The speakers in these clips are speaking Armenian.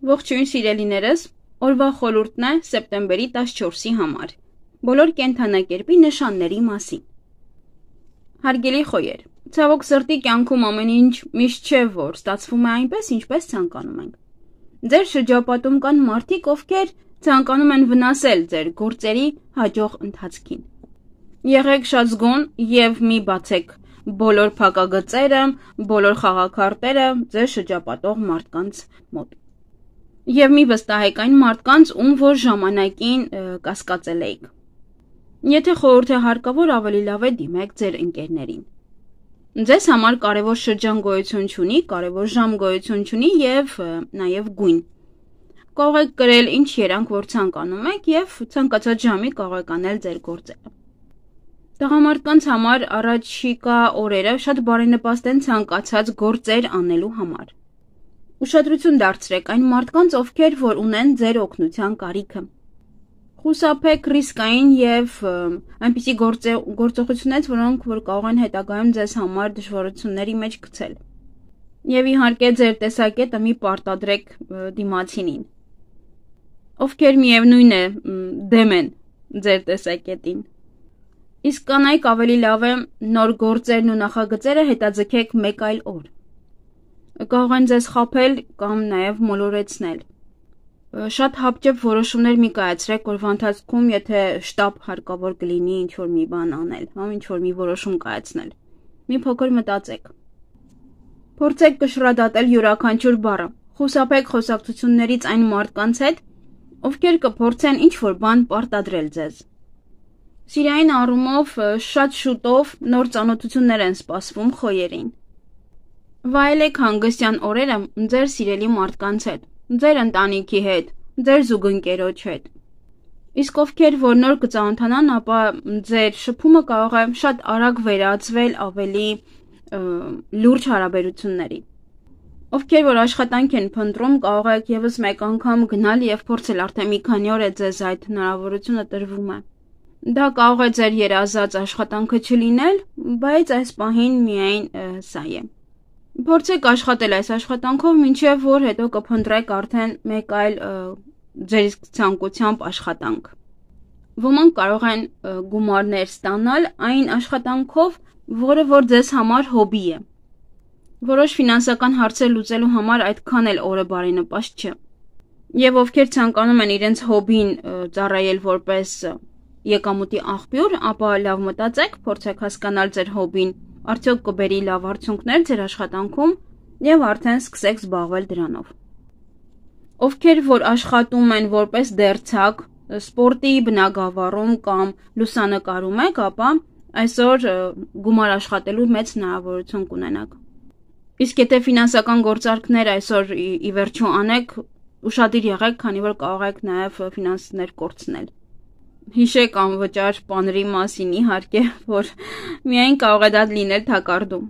Ողջույն սիրելիներս, օրվա խորհուրդն է սեպտեմբերի 14-ի համար, բոլոր կենդանակերպի նշանների մասին։ Հարգելի խոյեր, ցավոք սրտի կյանքում ամեն ինչ միշտ չէ, որ ստացվում է այնպես, ինչպես ցանկանում ենք։ Ձեր շրջապատում կան մարդիկ, ովքեր ցանկանում են վնասել ձեր գործերի հաջող ընթացքին։ Եղեք շատ զգոն եւ մի բացեք բոլոր փակագծերը, բոլոր խաղաքարտերը ձեր շրջապատող մարդկանց մոտ։ Եվ մի վստահեք այն մարդկանց, ում որ ժամանակին կասկածել էիք։ Եթե խորհուրդ է հարկավոր, ավելի լավ է դիմեք ձեր ընկերներին։ Ձեզ համար կարևոր շրջան գոյություն չունի, կարևոր ժամ գոյություն չունի եւ նաեւ գույն։ Կարող եք գրել ինչ երանգ որ ցանկանում եք եւ ցանկացած ժամի կարող եք անել ձեր գործերը։ Տղամարդկանց համար առաջիկա օրերը շատ բարենպաստ են ցանկացած գործեր անելու համար։ Ուշադրություն դարձրեք այն մարդկանց, ովքեր որ ունեն ձեր օգնության կարիքը։ Խուսափեք ռիսկային եւ այնպիսի գործողություններից, որոնք որ կարող են հետագայում ձեզ համար դժվարությունների մեջ գցել։ Եվ իհարկե ձեր տեսակետը մի պարտադրեք դիմացինին, ովքեր միևնույն է դեմ են ձեր տեսակետին։ Իսկ կանայք ավելի լավ է նոր գործերն ու նախագծերը հետաձգեք մեկ այլ օր։ Կարող են ձեզ խաբել կամ նաև մոլորեցնել։ Շատ հապճեպ որոշումներ մի կայացրեք օրվա ընթացքում, եթե շտապ հարկավոր կլինի ինչ-որ մի բան անել, կամ ինչ-որ մի որոշում կայացնել։ Մի փոքր մտածեք։ Փորձեք կշռադատել յուրաքանչյուր բառը։ Խուսափեք խոսակցություններից այն մարդկանց հետ, ովքեր կփորձեն ինչ-որ բան պարտադրել ձեզ։ Սիրային առումով շատ շուտով նոր ծանոթություններ են սպասվում խոյերին։ Վայելեք հանգստյան օրերը ձեր սիրելի մարդկանց հետ, ձեր ընտանիքի հետ, ձեր զուգընկերոջ հետ։ Իսկ ովքեր որ նոր կծանոթանան, ապա ձեր շփումը կարող է շատ արագ վերածվել ավելի լուրջ հարաբերությունների։ Ովքեր որ աշխատանք են փնտրում, կարող եք եւս մեկ անգամ գնալ եւ փորձել, արդեն մի քանի օր է ձեզ այդ հնարավորությունը տրվում է։ Դա կարող է ձեր երազած աշխատանքը չլինել, բայց այս պահին միայն սա է։ Փորձեք աշխատել այս աշխատանքով, մինչև որ հետո կփնտրեք արդեն մեկ այլ ձեր ցանկությամբ աշխատանք։ Ոմանք կարող են գումարներ ստանալ այն աշխատանքով, որը որ ձեզ համար հոբի է։ Որոշ ֆինանսական հարցեր լուծելու համար այդքան էլ օրը բարենպաստ չէ։ Եվ ովքեր ցանկանում են իրենց հոբին ծառայել որպես եկամուտի աղբյուր, ապա լավ մտածեք, փորձեք հասկանալ ձեր հոբին, արդյոք կբերի լավ արդյունքներ ձեր աշխատանքում եւ արդեն սկսեք զբաղվել դրանով։ Ովքեր որ աշխատում են որպես դերձակ, սպորտի բնագավառում կամ լուսանկարում եք, ապա այսօր գումար աշխատելու մեծ հնարավորություն կունենաք։ Իսկ եթե ֆինանսական գործարքներ այսօր ի վերջո անեք, ուշադիր եղեք, քանի որ կարող եք նաեւ ֆինանսներ կորցնել։ Հիշեք անվճար պաների մասին, իհարկե, որ միայն կարող է դա լինել թակարդում։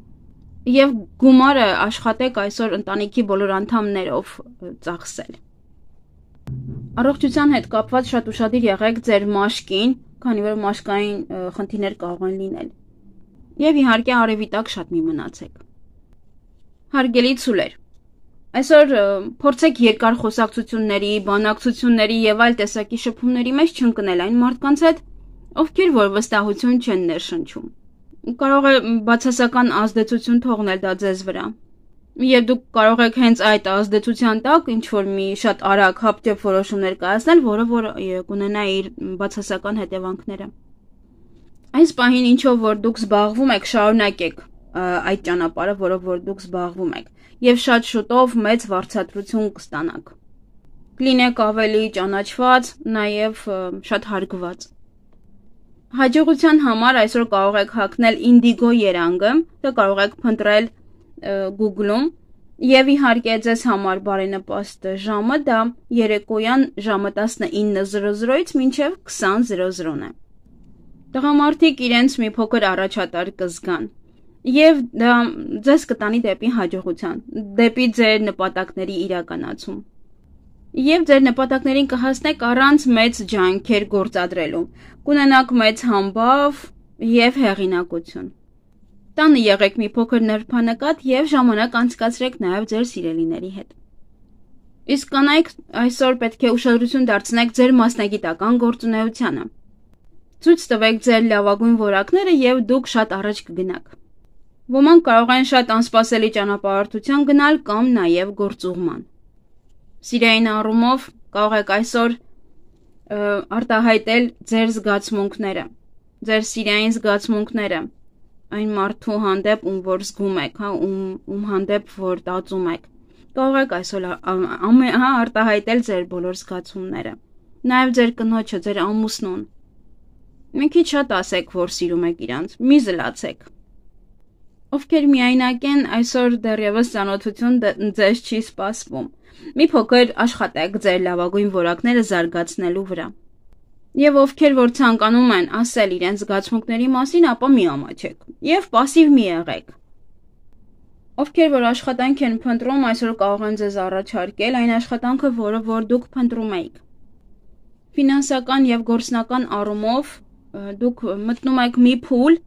Եվ գումարը աշխատեք այսօր ընտանիքի բոլոր անդամներով ծախսել։ Առողջության հետ կապված շատ ուշադիր եղեք ձեր մաշկին, քանի որ մաշկային խնդիրներ կարող են լինել։ Եվ իհարկե արևի տակ շատ մի մնացեք։ Հարգելի ցուլեր, այսօր փորձեք երկար խոսակցությունների, բանակցությունների եւ այլ տեսակի շփումների մեջ չընկնել այն մարդկանց հետ, ովքեր որ վստահություն չեն ներշնչում։ Կարող է բացասական ազդեցություն թողնել դա ձեզ վրա։ Եվ դուք կարող եք հենց այդ ազդեցության տակ ինչ-որ մի շատ արագ հապճեպ որոշումներ կայացնել, որը որ կունենա իր բացասական հետևանքները։ Այս պահին ինչով որ դուք զբաղվում եք, շարունակեք այդ ճանապարհը, որով որ դուք զբաղվում եք, եւ շատ շուտով մեծ վարձատրություն կստանաք։ Կլինեք ավելի ճանաչված, նաեւ շատ հարգված։ Հաջողության համար այսօր կարող եք հագնել Indigo երանգը, դա կարող եք փնտրել Google-ում, եւ իհարկե ձեզ համար բարենպաստ ժամը դա երեկոյան ժամը 19:00-ից մինչև 20:00-ն է։ Տղամարդիկ իրենց մի փոքր առաջատար կզգան։ Եվ դա ձեզ կտանի դեպի հաջողության, դեպի ձեր նպատակների իրականացում։ Եվ ձեր նպատակներին կհասնեք առանց մեծ ջանքեր գործադրելու, կունենաք մեծ համբավ եւ հեղինակություն։ Տանը եղեք մի փոքր նրբանկատ եւ ժամանակ անցկացրեք նաեւ ձեր սիրելիների հետ։ Իսկ կանայք այսօր պետք է ուշադրություն դարձնեք ձեր մասնագիտական գործունեությանը։ Ցույց տվեք ձեր լավագույն որակները եւ դուք շատ առաջ կգնաք։ Ոմանք կարող են շատ անսպասելի ճանապարհորդության գնալ կամ նաեւ գործուղման։ Սիրային առումով կարող եք այսօր արտահայտել ձեր զգացմունքները, ձեր սիրային զգացմունքները այն մարդու հանդեպ, ում որ զգում եք, ում հանդեպ որ տածում եք։ Կարող եք այսօր արտահայտել ձեր բոլոր զգացումները, նաև ձեր կնոջը, ձեր ամուսնուն։ Մի քիչ շատ ասեք, որ սիրում եք իրանց, մի զլացեք։ Ովքեր միայնակ են, այսօր դեռևս ծանոթություն ձեզ չի սպասվում։ Մի փոքր աշխատեք ձեր լավագույն որակները զարգացնելու վրա։ Եվ ովքեր որ ցանկանում են ասել իրենց զգացմունքների մասին, ապա մի ամաչեք եւ пассив մի եղեք։ Ովքեր որ աշխատանք են փնտրում, այսօր կարող են ձեզ առաջարկել այն աշխատանքը, որը որ դուք փնտրում եք։ Ֆինանսական եւ գործնական առումով դուք մտնում եք մի փուլ,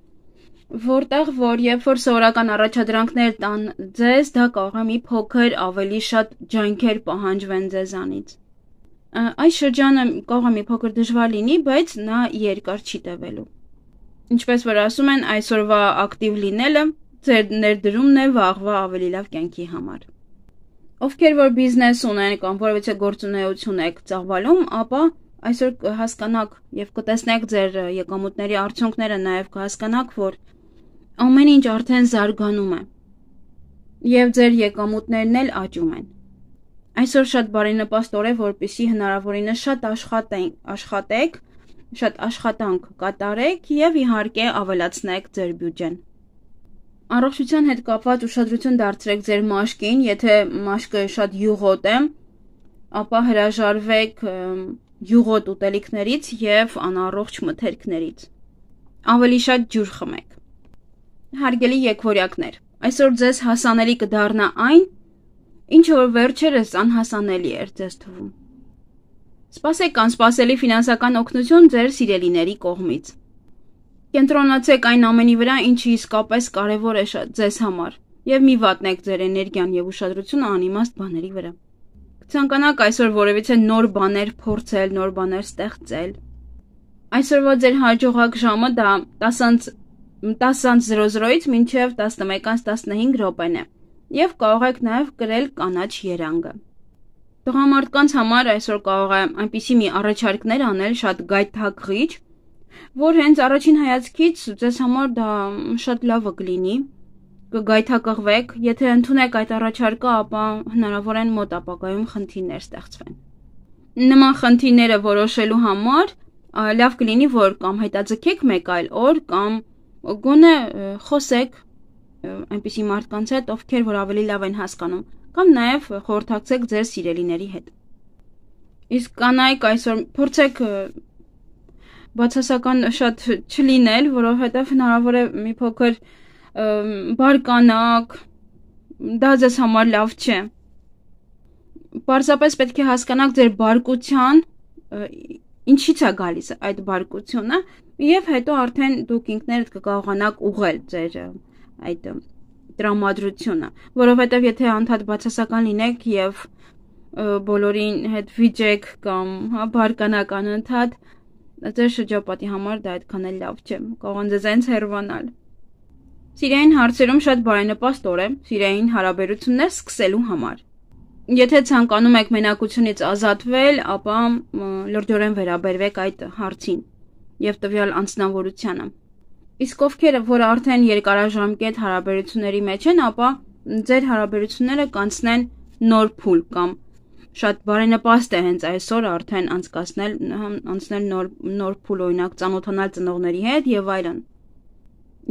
որտեղ որ երբ որ սովորական առաջադրանքներ տան ձեզ, դա կարող է մի փոքր ավելի շատ ջանքեր պահանջվեն ձեզանից։ Այս շրջանը կարող է մի փոքր դժվար լինի, բայց նա երկար չի տևելու։ Ինչպես որ ասում են, այսօրվա ակտիվ լինելը ձեր ներդրումն է վաղվա ավելի լավ կյանքի համար։ Ովքեր որ բիզնես ունեն կամ որևէ գործունեություն եք ծավալում, ապա այսօր կհասկանաք եւ կտեսնեք ձեր եկամուտների արդյունքները, նաեւ կհասկանաք, որ ամեն ինչ արդեն զարգանում է եւ ձեր եկամուտներն էլ աճում են։ Այսօր շատ բարենպաստ օր է, որպեսզի հնարավորինս շատ աշխատեք, շատ աշխատանք կատարեք եւ իհարկե ավելացնեք ձեր բյուջեն։ Առողջության հետ կապված ուշադրություն դարձրեք ձեր մաշկին, եթե մաշկը շատ յուղոտ է, ապա հրաժարվեք յուղոտ ուտելիքներից եւ անառողջ մթերքներից։ Ավելի շատ ջուր խմեք։ Հարգելի եկվորյակներ, այսօր ձեզ հասանելի կդառնա այն, ինչը որ վերջերս անհասանելի էր ձեզ թվում։ Սպասեք անսպասելի ֆինանսական օգնություն ձեր սիրելիների կողմից։ Կենտրոնացեք այն ամենի վրա, ինչը իսկապես կարևոր է ձեզ համար, եւ մի վատնեք ձեր էներգիան եւ ուշադրությունը անիմաստ բաների վրա։ Կցանկանաք այսօր որևիցե նոր բաներ փորձել, նոր բաներ ստեղծել։ Այսօրվա ձեր հաջողակ ժամը դա 10:00-ից մինչև 11:15 րոպեն է, եւ կարող եք նաեւ կրել կանաչ երանգը։ Տղամարդկանց համար այսօր կարող է այնպիսի մի առաջարկներ անել շատ գայթակղիչ, որ հենց առաջին հայացքից ձեզ համար դա շատ լավը կլինի, կգայթակղվեք, եթե ընդունեք այդ առաջարկը, ապա հնարավոր են մոտ ապագայում խնդիրներ ստեղծվեն։ Նման խնդիրները որոշելու համար լավ կլինի, որ կամ հետաձգեք մեկ այլ օր, կամ գոնե խոսեք այնպիսի մարդկանց հետ, ովքեր որ ավելի լավ են հասկանում, կամ նաև խորհրդակցեք ձեր սիրելիների հետ։ Իսկ կանայք այսօր փորձեք բացասական շատ չլինել, որովհետև հնարավոր է մի փոքր բարկանաք, դա ձեզ համար լավ չէ։ Պարզապես պետք է հասկանաք ձեր բարկության ինչից է գալիս այդ բարկությունը, եւ հետո արդեն դուք ինքներդ կկարողանաք ուղղել ձեր այդ տրամադրությունը, որովհետև եթե անդադ բացասական լինեք եւ բոլորին հետ վիճեք կամ բարկանաք անընդհատ, ձեր շրջապատի համար դա այդքան էլ լավ չէ, կարող են ձեզ հենց հեռանալ։ Սիրային հարցերում շատ բարենպաստ օր է սիրային հարաբերություններ սկսելու համար։ Եթե ցանկանում եք մենակությունից ազատվել, ապա լրջորեն վերաբերվեք այդ հարցին եւ տվյալ անձնավորությանը։ Իսկ ովքեր որ արդեն երկարաժամկետ հարաբերությունների մեջ են, ապա ձեր հարաբերությունները կանցնեն նոր փուլ կամ շատ բարենպաստ է հենց այսօր արդեն անցնել նոր փուլ, օրինակ ծանոթանալ ծնողների հետ եւ այլն։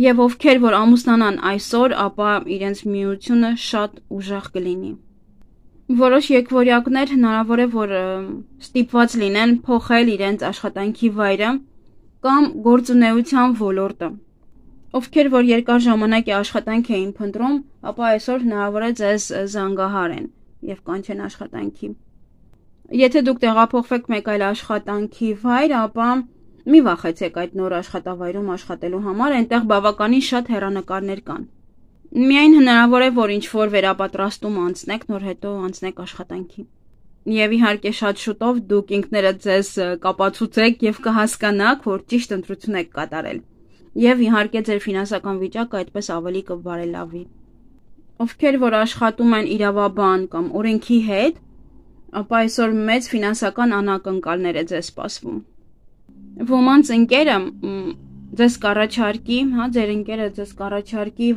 Եվ ովքեր որ ամուսնանան այսօր, ապա իրենց միությունը շատ ուժեղ կլինի։ Որոշ եկվորյակներ հնարավոր է որ ստիպված լինեն փոխել իրենց աշխատանքի վայրը կամ գործունեության ոլորտը։ Ովքեր որ երկար ժամանակ է աշխատանք էին փնտրում, ապա այսօր հնարավոր է ձեզ զանգահարեն եւ կանչեն աշխատանքի։ Եթե դուք տեղափոխվեք մեկ այլ աշխատանքի վայր, ապա մի վախեցեք այդ նոր աշխատավայրում աշխատելու համար, այնտեղ բավականին շատ հեռանկարներ կան։ Միայն հնարավոր է որ ինչ որ վերապատրաստում անցնեք, նոր հետո անցնեք աշխատանքի։ Եվ իհարկե շատ շուտով դուք ինքներդ ձեզ կապացուցեք եւ կհասկանաք, որ ճիշտ ընտրություն եք կատարել։ Եվ իհարկե ձեր ֆինանսական վիճակը այդպես ավելի կբարելավի։ Ովքեր որ աշխատում են իրավաբան կամ օրենքի հետ, ապա այսօր մեծ ֆինանսական անակնկալներ է ձեզ սպասվում։ Ոմանց ընկերը ձեզ կառաջարկի, ձեր ընկերը ձեզ կառաջարկի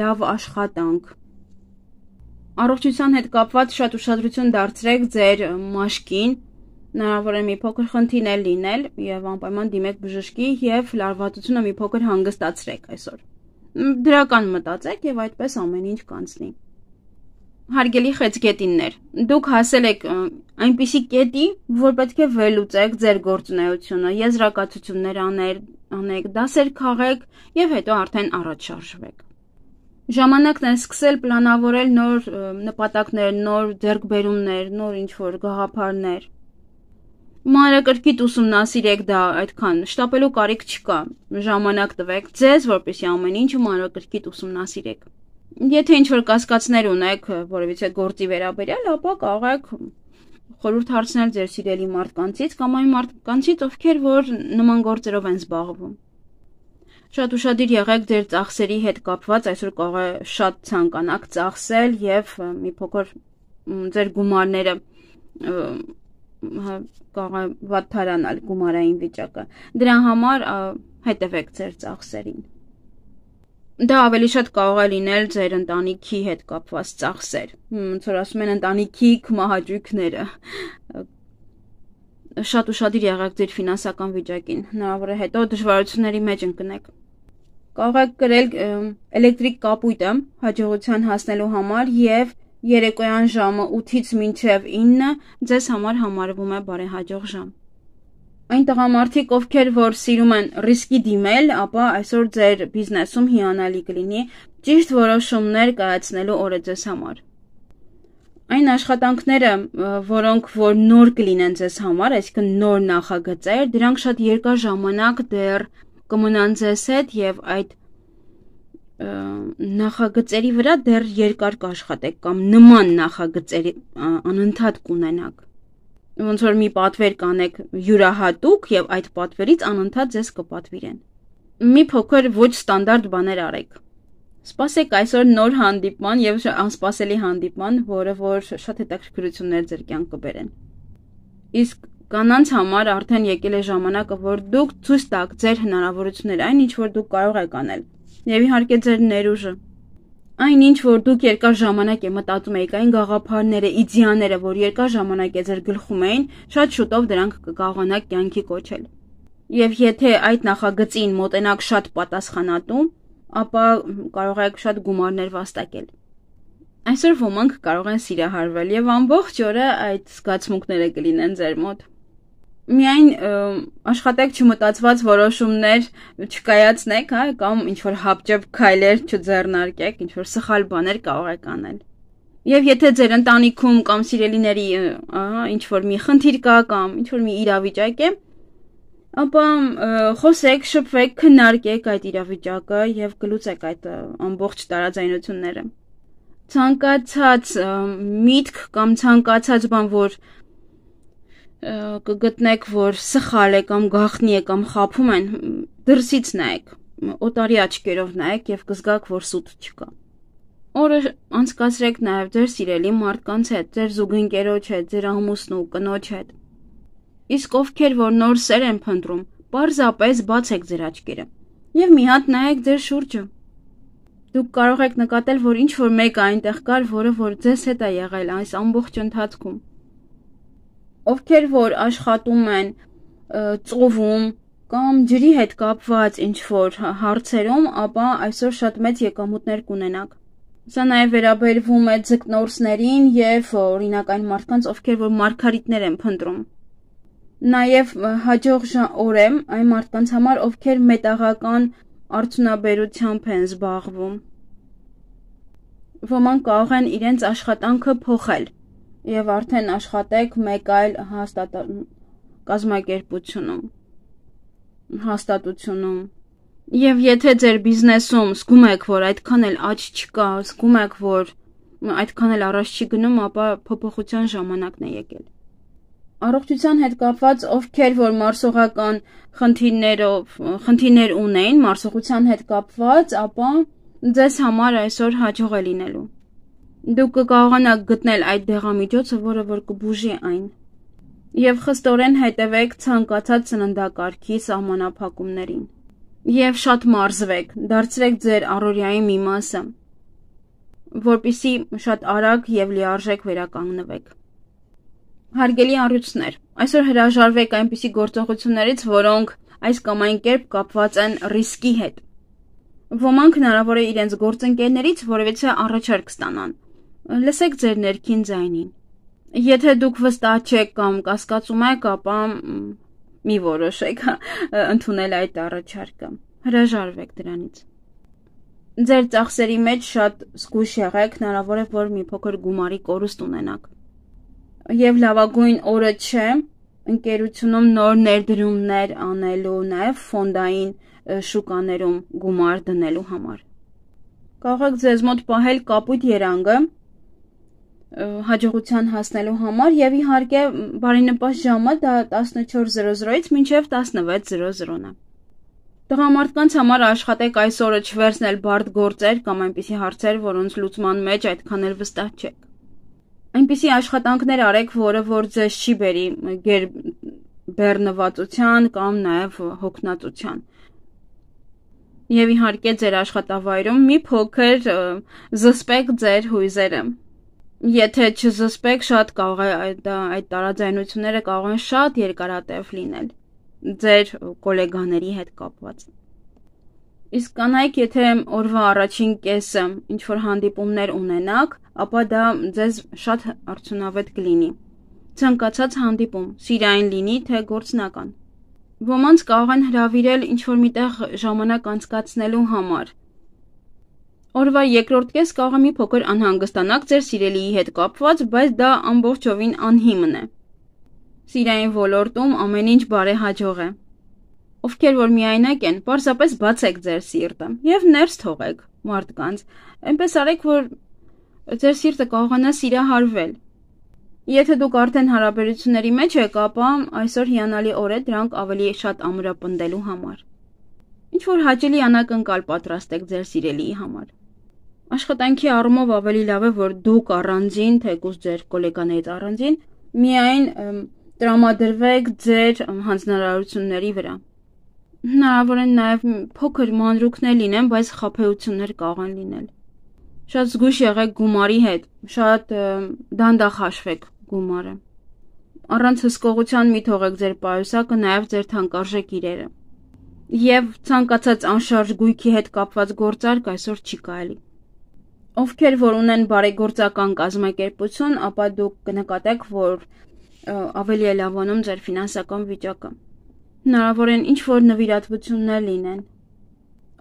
լավ աշխատանք։ Առողջության հետ կապված շատ ուշադրություն դարձրեք ձեր մաշկին, հնարավոր է մի փոքր խնդիրներ լինել եւ անպայման դիմեք բժշկի եւ լարվածությունը մի փոքր հանգստացրեք այսօր։ Դրական մտածեք եւ այդպես ամեն ինչ կանցնի։ Հարգելի խեցգետիններ, դուք հասել եք այնպիսի կետի, որ պետք է վերլուծեք ձեր գործունեությունը, եզրակացություններ անեք, դասեր քաղեք եւ հետո արդեն առաջ շարժվեք։ Ժամանակն է սկսել պլանավորել նոր նպատակներ, նոր ձեռքբերումներ, նոր ինչ-որ գաղափարներ։ Մանրակրկիտ ուսումնասիրեք դա այդքան, շտապելու կարիք չկա, ժամանակ տվեք ձեզ, որպեսզի ամեն ինչը մանրակրկիտ ուսումնասիրեք։ Եթե ինչ-որ կասկածներ ունեք որևիցե գործի վերաբերյալ, ապա կարող եք խորհուրդ հարցնել ձեր սիրելի մարդկանցից կամ այն մարդկանցից, ովքեր որ նման գործերով են զբաղվում։ Շատ ուշադիր եղեք ձեր ծախսերի հետ կապված, այսօր կարող է շատ ցանկանաք ծախսել եւ մի փոքր ձեր գումարները կարող է վատթարանալ գումարային վիճակը։ Դրա համար հետևեք ձեր ծախսերին։ Դա ավելի շատ կարող է լինել ձեր ընտանիքի հետ կապված ծախսեր, ոնց որ ասում են ընտանիքի կմահաճույքները։ Շատ ուշադիր եղեք ձեր ֆինանսական վիճակին, հնարավոր է հետո դժվարությունների մեջ ընկնեք։ Կարող եք կրել էլեկտրիկ կապույտը հաջողության հասնելու համար եւ երեկոյան ժամը 8-ից մինչև 9 ձեզ համար համարվում է բարեհաջող ժամ։ Այն տղամարդիկ, ովքեր որ սիրում են ռիսկի դիմել, ապա այսօր ձեր բիզնեսում հիանալի կլինի ճիշտ որոշումներ կայացնելու օրը ձեզ համար։ Այն աշխատանքները, որոնք որ նոր կլինեն ձեզ համար, այսինքն նոր նախագծեր, դրանք շատ երկար ժամանակ դեռ կմնան ձեզ հետ եւ այդ նախագծերի վրա դեռ երկար կաշխատեք կամ նման նախագծերի անընդհատ կունենաք։ Ոնց որ մի պատվեր կանեք յուրահատուկ եւ այդ պատվերից անընդհատ ձեզ կպատվիրեն։ Մի փոքր ոչ ստանդարտ բաներ արեք։ Սպասեք այսօր նոր հանդիպման եւ անսպասելի հանդիպման, որը որ շատ հետաքրքրություններ ձեր կյանք կբերեն։ Իսկ կանանց համար արդեն եկել է ժամանակը, որ դուք ցույց տաք ձեր հնարավորությունները, այն ինչ որ դուք կարող եք անել։ Եվ իհարկե ձեր ներուժը։ Այն ինչ որ դուք երկար ժամանակ է մտածում եք, այն գաղափարները, իդեաները, որ երկար ժամանակ է ձեր գլխում էին, շատ շուտով դրանք կկարողանաք կյանքի կոչել։ Եվ եթե այդ նախագծին մոտենաք շատ պատասխանատու, ապա կարող եք շատ գումարներ վաստակել։ Այսօր ոմանք կարող են սիրահարվել եւ ամբողջ օրը այդ զգացմունքները կլինեն ձեր մոտ։ Միայն աշխատեք չմտածված որոշումներ չկայացնեք, կամ ինչ որ հապճեպ քայլեր չձեռնարկեք, ինչ որ սխալ բաներ կարող եք անել։ Եվ եթե ձեր ընտանիքում կամ սիրելիների ինչ որ մի խնդիր կա կամ ինչ որ մի իրավիճակ է, ապա խոսեք, շփվեք, քննարկեք այդ իրավիճակը եւ կլուծեք այդ ամբողջ տարաձայնությունները։ Ցանկացած միտք կամ ցանկացած բան, որ կգտնեք, որ սխալ է կամ գաղտնի է կամ խաբում են, դրսից նայեք, օտարի աչքերով նայեք եւ կզգաք, որ սուտ չկա։ Օրը անցկացրեք նաեւ ձեր սիրելի մարդկանց հետ, ձեր զուգընկերոջ հետ, ձեր ամուսնու, կնոջ հետ։ Իսկ ովքեր որ նոր սեր են փնտրում, պարզապես բացեք ձեր աչքերը եւ մի հատ նայեք ձեր շուրջը։ Դուք կարող եք նկատել, որ ինչ որ մեկը այնտեղ կար, որը որ ձեզ հետ է եղել այս ամբողջ ընթացքում։ Ովքեր որ աշխատում են ծովում կամ ջրի հետ կապված ինչ որ հարցերում, ապա այսօր շատ մեծ եկամուտներ կունենաք։ Սա նաեւ վերաբերվում է ձկնորսներին եւ օրինակ այն մարդկանց, ովքեր որ մարգարիտներ են փնտրում։ Նաեւ հաջող օր է այն մարդկանց համար, ովքեր մետաղական արդյունաբերությամբ են զբաղվում։ Ոմանք կարող են իրենց աշխատանքը փոխել եւ արդեն աշխատեք մեկ այլ կազմակերպությունում, հաստատությունում։ Եվ եթե ձեր բիզնեսում զգում եք, որ այդքան էլ աճ չկա, զգում եք, որ այդքան էլ առաջ չի գնում, ապա փոփոխության ժամանակն է եկել։ առողջության հետ կապված ովքեր որ մարսողական խնդիրներ ունեն, մարսողության հետ կապված, ապա ձեզ համար այսօր հաջող է լինելու։ Դուք կկարողանաք գտնել այդ դեղամիջոցը, որը որ կբուժի այն։ Եվ խստորեն հետևեք ցանկացած սննդակարգի սահմանափակումներին։ Եվ շատ մարզվեք, դարձրեք ձեր առօրյայի մի մասը, որպեսզի շատ արագ եւ լիարժեք վերականգնվեք։ Հարգելի առյուծներ, այսօր հրաժարվեք այնպիսի գործողություններից, որոնք այս կամ այն կերպ կապված են ռիսկի հետ։ Ոմանք հնարավոր է իրենց գործընկերներից որևիցե առաջարկ ստանան։ Լսեք ձեր ներքին ձայնին։ Եթե դուք վստահ չեք կամ կասկածում եք, ապա մի որոշեք ընդունել այդ առաջարկը։ Հրաժարվեք դրանից։ Ձեր ծախսերի մեջ շատ զգույշ եղեք, հնարավոր է որ մի փոքր գումարի կորուստ ունենաք։ Եվ լավագույն օրը չէ ընկերությունում նոր ներդրումներ անելու, նաև ֆոնդային շուկաներում գումար դնելու համար։ Կարող եք ձեզ մոտ պահել կապույտ երանգը հաջողության հասնելու համար եւ իհարկե բարենպաստ ժամը դա 14:00-ից մինչեւ 16:00-ն է։ Տղամարդկանց համար աշխատեք այս օրը չվերցնել բարդ գործեր կամ այնպիսի հարցեր, որոնց լուծման մեջ այդքան էլ վստահ չեք։ Այնպիսի աշխատանքներ արեք, որը որ ձեզ չի բերի բեռնվածության կամ նաև հոգնածության։ Եվ իհարկե ձեր աշխատավայրում մի փոքր զսպեք ձեր հույզերը։ Եթե չզսպեք, շատ կարող է այդ տարաձայնությունները կարող են շատ երկարատև լինել ձեր գոլեգաների հետ կապված։ Իսկ կանայք, եթե օրվա առաջին կեսը ինչ-որ հանդիպումներ ունենաք, ապա դա ձեզ շատ արդյունավետ կլինի։ Ցանկացած հանդիպում, սիրային լինի, թե գործնական։ Ոմանց կարող են հրավիրել ինչ-որ միտեղ ժամանակ անցկացնելու համար։ Օրվա երկրորդ կես կարող է մի փոքր անհանգստանաք ձեր սիրելիի հետ կապված, բայց դա ամբողջովին անհիմն է։ Սիրային ոլորտում ամեն ինչ բարեհաջող է։ Ովքեր որ միայնակ են, պարզապես բացեք ձեր սիրտը եւ ներս թողեք մարդկանց։ Այնպես արեք, որ ձեր սիրտը կարողանա սիրահարվել։ Եթե դուք արդեն հարաբերությունների մեջ եք, ապա այսօր հիանալի օր է դրանք ավելի շատ ամրապնդելու համար։ Ինչ որ հաճելի անակնկալ պատրաստեք ձեր սիրելիի համար։ Աշխատանքի առումով ավելի լավ է, որ դուք առանձին, թեկուզ ձեր գոլեգաներից առանձին, միայն տրամադրվեք ձեր հանձնարարությունների վրա։ Հնարավոր են նաև փոքր մանրուքներ լինեն, բայց խաբեություններ կարող են լինել։ Շատ զգույշ եղեք գումարի հետ, շատ դանդաղ հաշվեք գումարը։ Առանց հսկողության մի թողեք ձեր պայուսակը, նաև ձեր թանկարժեք իրերը։ Եվ ցանկացած անշարժ գույքի հետ կապված գործարք այսօր չի կարելի։ Ովքեր որ ունեն բարեգործական կազմակերպություն, ապա դուք կնկատեք, որ ավելի է լավանում ձեր ֆինանսական վիճակը։ Հնարավոր են ինչ-որ նվիրատվություններ լինեն։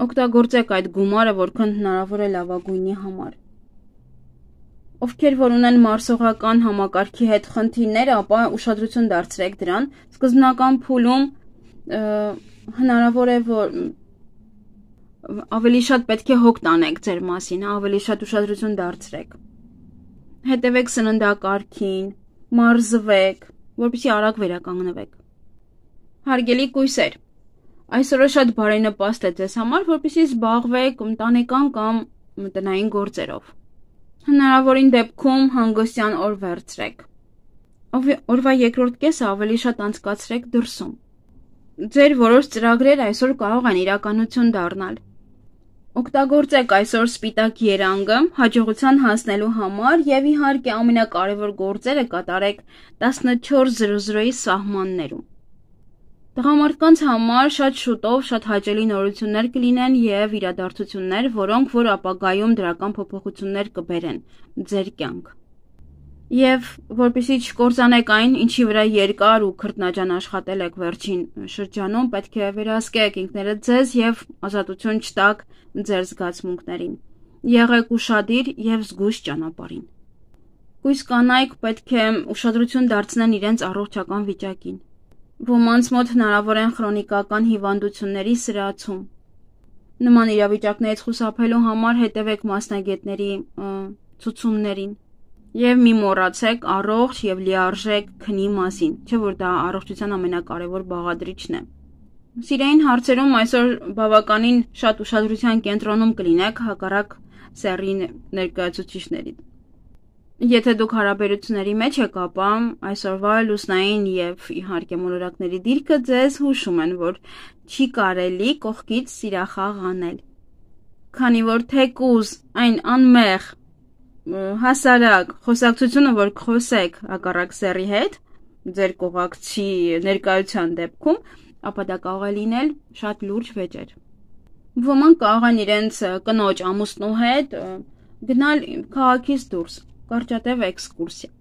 Օգտագործեք այդ գումարը, որքան հնարավոր է լավագույնի համար։ Ովքեր որ ունեն մարսողական համակարգի հետ խնդիրներ, ապա ուշադրություն դարձրեք դրան։ Սկզբնական փուլում հնարավոր է, որ ավելի շատ պետք է հոգ տանեք ձեր մասին, ավելի շատ ուշադրություն դարձրեք։ Հետևեք սննդակարգին, մարզվեք, որպեսզի արագ վերականգնվեք։ Հարգելի կույսեր, այսօրը շատ բարենպաստ է ձեզ համար, որպեսզի զբաղվեք ընտանեկան կամ տնային գործերով։ Հնարավորին դեպքում հանգստյան օր վերցրեք։ Օրվա երկրորդ կեսը ավելի շատ անցկացրեք դրսում։ Ձեր որոշ ծրագրեր այսօր կարող են իրականություն դառնալ։ Օգտագործեք այսօր սպիտակ երանգը հաջողության հասնելու համար եւ իհարկե ամենակարևոր գործերը կատարեք 14:00-ի սահմաններում։ Տղամարդկանց համար շատ շուտով շատ հաճելի նորություններ կլինեն եւ իրադարձություններ, որոնք որ ապագայում դրական փոփոխություններ կբերեն ձեր կյանք։ Եվ որպեսզի չկործանեք այն, ինչի վրա երկար ու քրտնաջան աշխատել եք վերջին շրջանում, պետք է վերահսկեք ինքներդ ձեզ եւ ազատություն չտաք ձեր զգացմունքներին։ Եղեք ուշադիր եւ զգույշ ճանապարհին։ Կույս կանայք պետք է ուշադրություն դարձնեն իրենց առողջական վիճակին։ Ոմանց մոտ հնարավոր են քրոնիկական հիվանդությունների սրացում։ Նման իրավիճակներից խուսափելու համար հետևեք մասնագետների ցուցումներին։ Եվ մի մոռացեք առողջ եւ լիարժեք քնի մասին, չէ՞ որ դա առողջության ամենակարևոր բաղադրիչն է։ Սիրային հարցերում այսօր բավականին շատ ուշադրության կենտրոնում կլինեք հակառակ սեռի ներկայացուցիչների։ Եթե դուք հարաբերությունների մեջ եք, ապա այսօրվա լուսնային եւ իհարկե մոլորակների դիրքը ձեզ հուշում են, որ չի կարելի կողքից սիրախաղ անել։ Քանի որ թեկուզ այն անմեղ հասարակ խոսակցությունը, որ խոսեք հակառակ սեռի հետ, ձեր կողակցի ներկայության դեպքում, ապա դա կարող է լինել շատ լուրջ վեճեր։ Ոմանք կարող են իրենց կնոջ ամուսնու հետ գնալ քաղաքից դուրս, կարճատև էքսկուրսիա։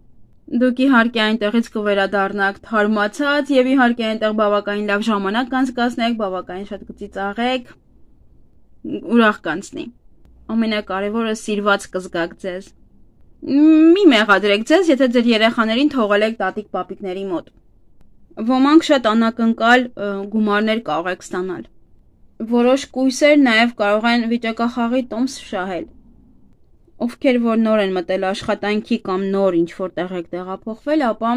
Դուք իհարկե այնտեղից կվերադառնաք թարմացած եւ իհարկե այնտեղ բավականին լավ ժամանակ կանցկացնեք, բավականին շատ կծիծաղեք, ուրախ կանցնի։ Ամենակարևորը սիրված կզգաք ձեզ։ Մի մեղադրեք ձեզ, եթե ձեր երեխաներին թողել եք տատիկ-պապիկների մոտ։ Ոմանք շատ անակնկալ գումարներ կարող եք ստանալ։ Որոշ կույսեր նաև կարող են վիճակախաղի տոմս շահել։ Ովքեր որ նոր են մտել աշխատանքի կամ նոր ինչ-որ տեղ եք տեղափոխվել, ապա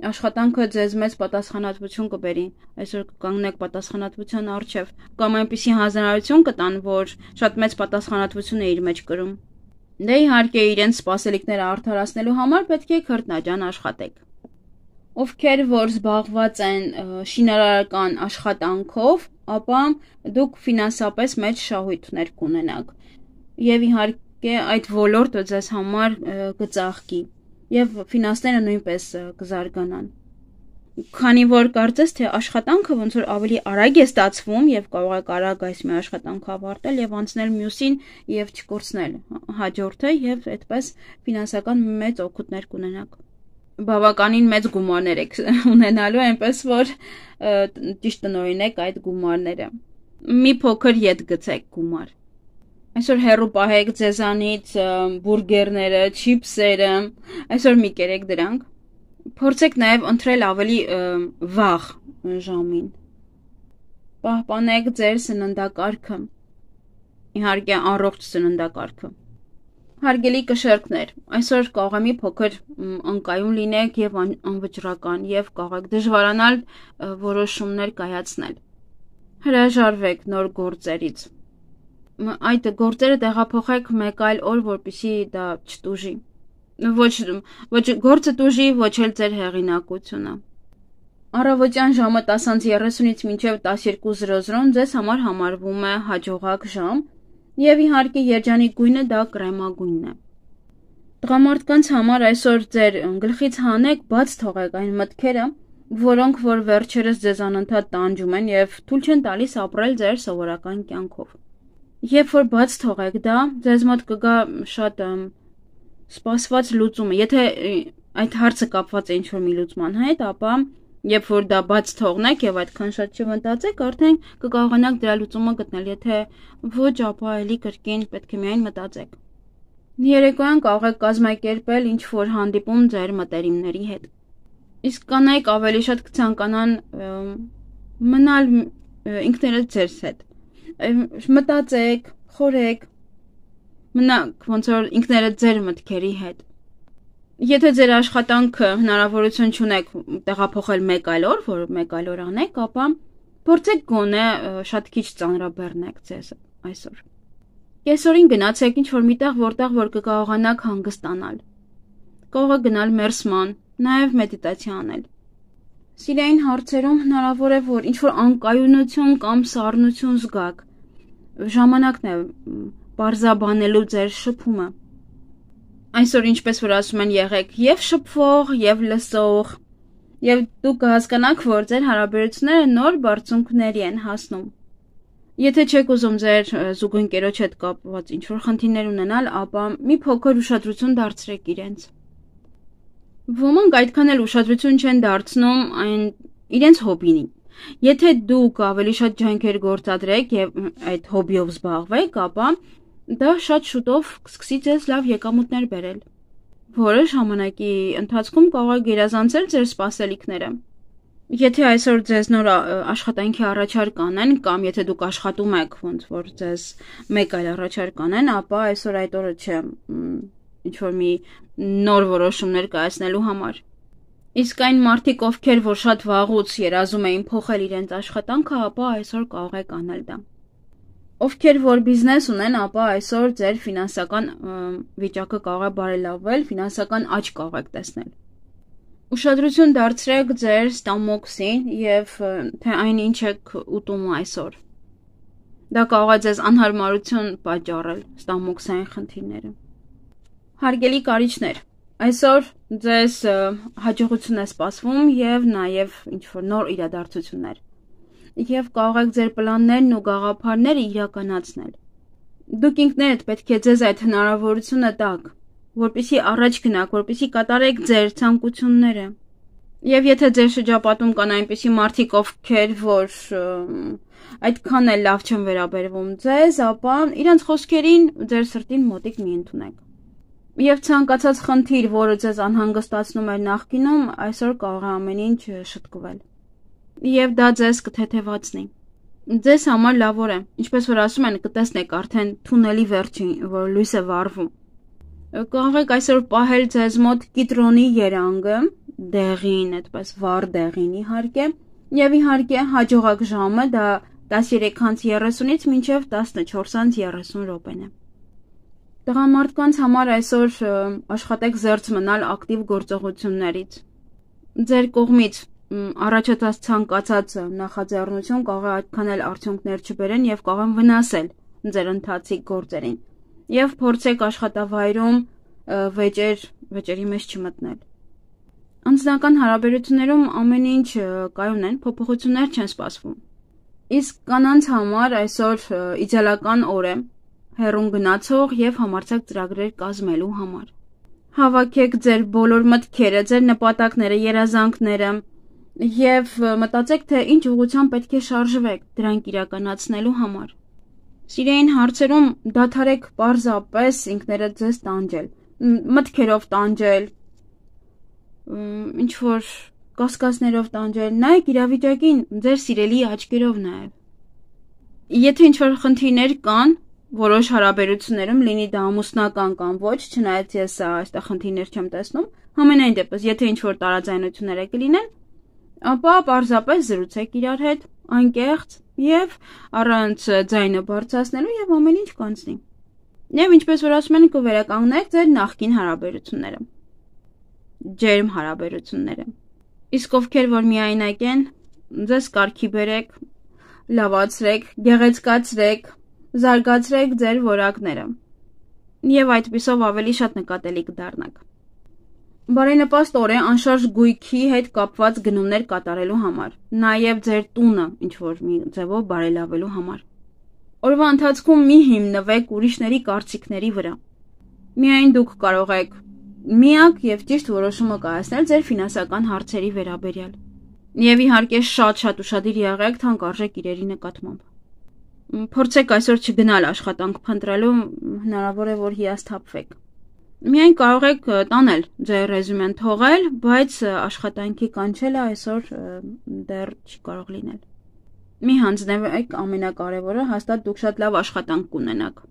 աշխատանքը ձեզ մեծ պատասխանատվություն կբերի։ Այսօր կկանգնեք պատասխանատվության առջև, կամ այնպիսի հանձնարարություն կտան, որ շատ մեծ պատասխանատվություն է իր մեջ կրում։ Դե իհարկե իրենց սպասելիքները արդարացնելու համար պետք է քրտնաջան աշխատեք։ Ովքեր որ զբաղված են շինարարական աշխատանքով, ապա դուք ֆինանսապես մեծ շահույթներ կունենաք։ Եվ իհարկե այդ ոլորտը ձեզ համար կծաղկի եւ ֆինանսները նույնպես կզարգանան։ Քանի որ կարծես թե աշխատանքը ոնց որ ավելի արագ է ստացվում եւ կարող եք արագ այս մի աշխատանքը ավարտել եւ անցնել մյուսին եւ չկորցնել հաջորդը եւ այդպես ֆինանսական մեծ օգուտներ կունենաք։ Բավականին մեծ գումարներ եք ունենալու, այնպես որ ճիշտ տնօրինեք այդ գումարները։ Մի փոքր ետ գցեք գումար։ Այսօր հեռու պահեք ձեզանից բուրգերները, չիփսերը, այսօր մի կերեք դրանք։ Փորձեք նաև ընտրել ավելի վաղ ժամին։ Պահպանեք ձեր սննդակարգը։ Իհարկե առողջ սննդակարգը։ Հարգելի կշեռքներ, այսօր կարող է մի փոքր անկայուն լինեք եւ անվճռական եւ կարող եք դժվարանալ որոշումներ կայացնել։ Հրաժարվեք նոր գործերից։ Այդ գործերը տեղափոխեք մեկ այլ օր, որպեսզի դա չտուժի։ Ոչ գործը տուժի, ոչ էլ ձեր հեղինակությունը։ Առավոտյան ժամը 10:30-ից մինչև 12:00 ձեզ համար համարվում է հաջողակ ժամ, եւ իհարկե երջանիկ գույնը դա կրեմագույնն է։ Տղամարդկանց համար այսօր ձեր գլխից հանեք, բաց թողեք այն մտքերը, որոնք որ վերջերս ձեզ անընդհատ տանջում են եւ թույլ չեն տալիս ապրել ձեր սովորական կյանքով։ Երբ որ բաց թողեք դա, ձեզ մոտ կգա շատ սպասված լուծումը։ Եթե այդ հարցը կապված է ինչ-որ մի լուծման հետ, ապա երբ որ դա բաց թողնեք եւ այդքան շատ չմտածեք, արդեն կկարողանաք դրա լուծումը գտնել։ Եթե ոչ, ապա էլի կրկին պետք է միայն մտածեք։ Երեկոյան կարող եք կազմակերպել ինչ-որ հանդիպում ձեր մտերիմների հետ։ Իսկ կանայք ավելի շատ կցանկանան մնալ ինքներդ ձեզ հետ։ Մտածեք, խորեք, մնաք ոնց որ ինքներդ ձեր մտքերի հետ։ Եթե ձեր աշխատանքը հնարավորություն չունեք տեղափոխել մեկ այլ օր, որ մեկ այլ օր անեք, ապա փորձեք գոնե շատ քիչ ծանրաբեռնեք ձեզ այսօր։ Կեսօրին գնացեք ինչ-որ միտեղ, որտեղ որ կկարողանաք հանգստանալ։ Կարող եք գնալ մերսման, նաև մեդիտացիա անել։ Սիրային հարցերում հնարավոր է, որ ինչ-որ անկայունություն կամ սառնություն զգաք։ Ժամանակն է պարզաբանելու ձեր շփումը։ Այսօր ինչպես որ ասում են, եղեք եւ շփվող, եւ լսող, եւ դուք կհասկանաք, որ ձեր հարաբերությունները նոր բարձունքների են հասնում։ Եթե չեք ուզում ձեր զուգընկերոջ հետ կապված ինչ-որ խնդիրներ ունենալ, ապա մի փոքր ուշադրություն դարձրեք իրենց։ Ոմանք այդքան էլ ուշադրություն չեն դարձնում իրենց հոբբին։ Եթե դուք ավելի շատ ջանքեր գործադրեք եւ այդ հոբբիով զբաղվեք, ապա դա շատ շուտով կսկսի ձեզ լավ եկամուտներ բերել, որը ժամանակի ընթացքում կարող է գերազանցել ձեր սպասելիքները։ Եթե այսօր ձեզ նոր աշխատանքի առաջարկ անեն, կամ եթե դուք աշխատում եք, ոնց որ ձեզ մեկ այլ առաջարկ անեն, ապա այսօր այդ օրը չէ, ինչ-որ մի նոր որոշումներ կայացնելու համար։ Իսկ այն մարդիկ, ովքեր որ շատ վաղուց երազում էին փոխել իրենց աշխատանքը, ապա այսօր կարող եք անել դա։ Ովքեր որ բիզնես ունեն, ապա այսօր ձեր ֆինանսական վիճակը կարող է բարելավել, ֆինանսական աճ կարող եք տեսնել։ Ուշադրություն դարձրեք ձեր ստամոքսին եւ թե այն ինչ եք ուտում այսօր։ Դա կարող է ձեզ անհարմարություն պատճառել ստամոքսային խնդիրները։ Հարգելի կարիճներ, այսօր ձեզ հաջողություն է սպասվում եւ նաեւ ինչ-որ նոր իրադարձություններ։ Եվ կարող եք ձեր պլաններն ու գաղափարները իրականացնել։ Դուք ինքներդ պետք է ձեզ այդ հնարավորությունը տաք, որպեսզի առաջ գնաք, որպեսզի կատարեք ձեր ցանկությունները։ Եվ եթե ձեր շրջապատում կան այնպիսի մարդիկ, ովքեր որ այդքան էլ լավ չեն վերաբերվում ձեզ, ապա իրենց խոսքերին ձեր սրտին մոտիկ մի ընդունեք։ Եվ ցանկացած խնդիր, որը ձեզ անհանգստացնում էր նախկինում, այսօր կարող է ամեն ինչ շտկվել։ Եվ դա ձեզ կթեթևացնի։ Ձեզ համար լավ օր է, ինչպես որ ասում են, կտեսնեք արդեն թունելի վերջին, որ լույս է վառվում։ Կարող եք այսօր պահել ձեզ մոտ կիտրոնի երանգը, դեղին, այդպես վառ դեղին իհարկե, եւ իհարկե հաջողակ ժամը դա 13:30-ից մինչև 14:30 րոպեն է։ Տղամարդկանց համար այսօր աշխատեք զերծ մնալ ակտիվ գործողություններից։ Ձեր կողմից առաջացած ցանկացած նախաձեռնություն կարող է այդքան էլ արդյունքներ չբերեն եւ կարող են վնասել ձեր ընթացիկ գործերին։ Եվ փորձեք աշխատավայրում վեճերի մեջ չմտնել։ Անձնական հարաբերություններում ամեն ինչ կայուն են, փոփոխություններ չեն սպասվում։ Իսկ կանանց համար այսօր իդեալական օր է հեռուն գնացող եւ համարձակ ծրագրեր կազմելու համար։ Հավաքեք ձեր բոլոր մտքերը, ձեր նպատակները, երազանքները եւ մտածեք, թե ինչ ուղղությամբ պետք է շարժվեք դրանք իրականացնելու համար։ Սիրային հարցերում դադարեք պարզապես ինքներդ ձեզ տանջել, մտքերով տանջել, ինչ որ կասկածներով տանջել, նայեք իրավիճակին ձեր սիրելի աչքերով նաեւ։ Եթե ինչ որ խնդիրներ կան որոշ հարաբերություններում, լինի դա ամուսնական կամ ոչ, չնայած ես այստեղ խնդիրներ չեմ տեսնում, համենայն դեպս, եթե ինչ որ տարաձայնություններ կլինեն, ապա պարզապես զրուցեք իրար հետ, անկեղծ եւ առանց ձայնը բարձրացնելու եւ ամեն ինչ կանցնի։ Եվ ինչպես որ ասում են, կվերականգնեք ձեր նախկին հարաբերությունները, ջերմ հարաբերությունները։ Իսկ ովքեր որ միայնակ են, ձեզ կարգի բերեք, լավացրեք, գեղեցկացրեք, զարգացրեք ձեր որակները եւ այդպիսով ավելի շատ նկատելի կդառնաք։ Բարենպաստ օր է անշարժ գույքի հետ կապված գնումներ կատարելու համար, նաեւ ձեր տունը ինչ որ մի ձևով բարելավելու համար։ Օրվա ընթացքում մի հիմնվեք ուրիշների կարծիքների վրա։ Միայն դուք կարող եք միակ եւ ճիշտ որոշումը կայացնել ձեր ֆինանսական հարցերի վերաբերյալ։ Եվ իհարկե շատ ուշադիր եղեք թանկարժեք իրերի նկատմամբ։ Փորձեք այսօր չգնալ աշխատանք փնտրելու, հնարավոր է որ հիասթափվեք։ Միայն կարող եք տանել ձեր ռեզյումեն թողել, բայց աշխատանքի կանչելը այսօր դեռ չի կարող լինել։ Մի հանձնվեք ամենակարևորը, հաստատ դուք շատ լավ աշխատանք կունենաք։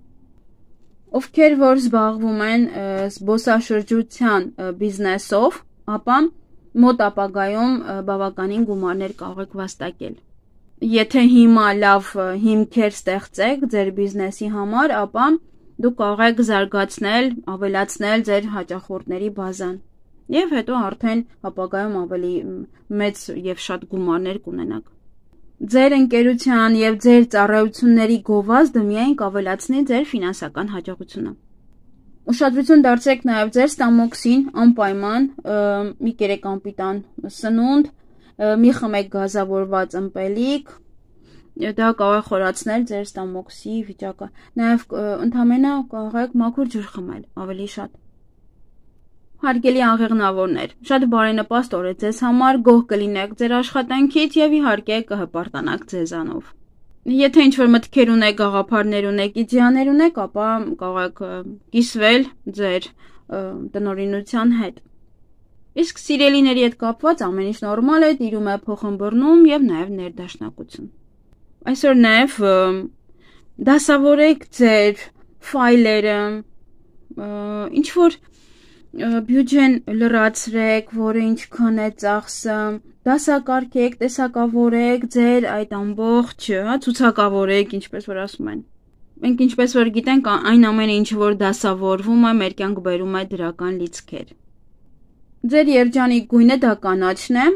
Ովքեր որ զբաղվում են զբոսաշրջության բիզնեսով, ապա մոտ ապագայում բավականին գումարներ կարող եք վաստակել։ Եթե հիմա լավ հիմքեր ստեղծեք ձեր բիզնեսի համար, ապա դուք կարող եք զարգացնել, ավելացնել ձեր հաճախորդների բազան եւ հետո արդեն ապագայում ավելի մեծ եւ շատ գումարներ կունենաք։ Ձեր ընկերության եւ ձեր ծառայությունների գովազդը միայն կավելացնի ձեր ֆինանսական հաջողությունը։ Ուշադրություն դարձրեք նաեւ ձեր ստամոքսին, անպայման մի կերեք անպիտան սնունդ, մի խմեք գազավորված ըմպելիք, դա կարող է խորացնել ձեր ստամոքսի վիճակը։ Նաև ընդհանրապես կարող եք մաքուր ջուր խմել, ավելի շատ։ Հարգելի աղեղնավորներ, շատ բարենպաստ օր է ձեզ համար, գոհ կլինեք ձեր աշխատանքից եւ իհարկե կհպարտանաք ձեզանով։ Եթե ինչ-որ մտքեր ունեք, գաղափարներ ունեք, իդեաներ ունեք, ապա կարող եք կիսվել ձեր տնօրինության հետ։ Իսկ սիրելիների հետ կապված ամեն ինչ նորմալ է, տիրում է փոխըմբռնում եւ նաեւ ներդաշնակություն։ Այսօր նաեւ դասավորեք ձեր ֆայլերը, ինչ որ բյուջեն լրացրեք, որը ինչքան է ծախսը, դասակարգեք, տեսակավորեք ձեր այդ ամբողջ, ցուցակավորեք, ինչպես որ ասում են։ Մենք ինչպես որ գիտենք, այն ամենը ինչ որ դասավորվում է, մեր կյանք բերում է դրական լիցքեր։ Ձեր երջանիկ գույնը դա կանաչն է,